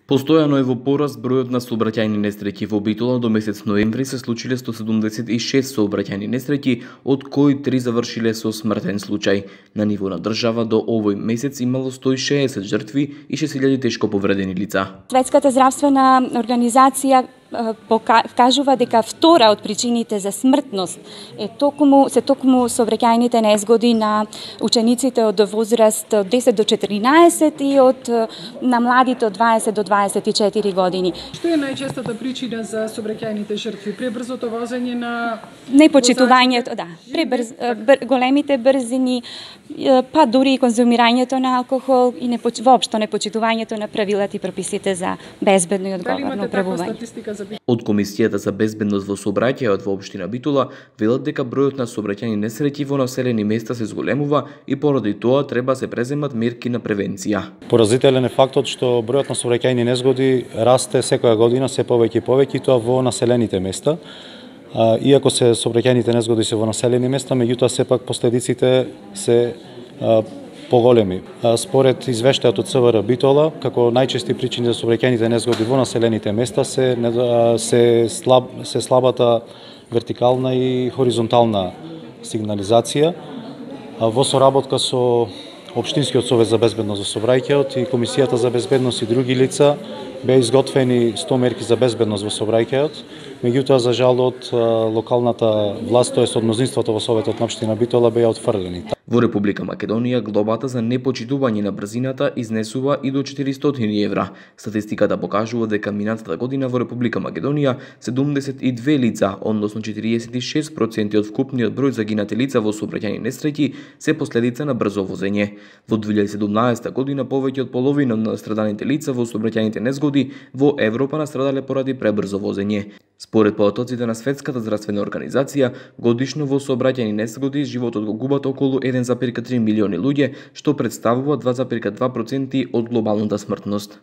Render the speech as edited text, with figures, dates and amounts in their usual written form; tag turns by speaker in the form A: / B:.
A: Постојано е во пораст бројот на сообраќајни несреќи. Во Битола до месец ноември се случиле 176 сообраќајни несреќи, од кои 3 завршиле со смртен случај. На ниво на држава до овој месец имало 160 жртви и 6000 тешко повредени лица.
B: Светската здравствена организација кажува дека втора од причините за смртност е токму сообраќајните незгоди на учениците од возраст од 10 до 14 и на младите од 20 до 24 години.
C: Што е најчестата причина за сообраќајните жртви? Пребрзото возење на
B: непочитувањето, големите брзини, па дури и конзумирањето на алкохол и воопшто непочитувањето на правилата и прописите за безбедно и одговорно управување.
A: Од Комисијата за безбедност во сообраќајот во општина Битола велат дека бројот на сообраќајни несреќи во населени места се зголемува и поради тоа треба се преземат мерки на превенција.
D: Поразителен е фактот што бројот на сообраќајни незгоди расте секоја година се повеќе и повеќе, и тоа во населените места. Иако се сообраќајните незгоди се во населени места, меѓутоа сепак последиците се поголеми. Според извештајот од ЦВР Битола, како најчести причини за сообраќајните незгоди во населените места се слабата вертикална и хоризонтална сигнализација. Во соработка со Општинскиот совет за безбедност во сообраќајот и Комисијата за безбедност и други лица беа изготвени 100 мерки за безбедност во сообраќајот, меѓутоа за жал од локалната власт, тоест од мнозинството во Советот на општина Битола, беа отфрлени.
A: Во Република Македонија глобата за непочитување на брзината изнесува и до 400 евра. Статистиката покажува дека минатата година во Република Македонија 72 лица, односно 46% од вкупниот број загинати лица во сообраќајни несреќи се последица на брзо возење. Во 2017 година повеќе од половина на настраданите лица во сообраќајните незгоди во Европа настрадале поради пребрзо возење. Според потоците на Светската здравствена организација, годишно во сообраќајни несгоди животот го губат околу 1,3 милиони луѓе, што представува 2,2% од глобалната смртност.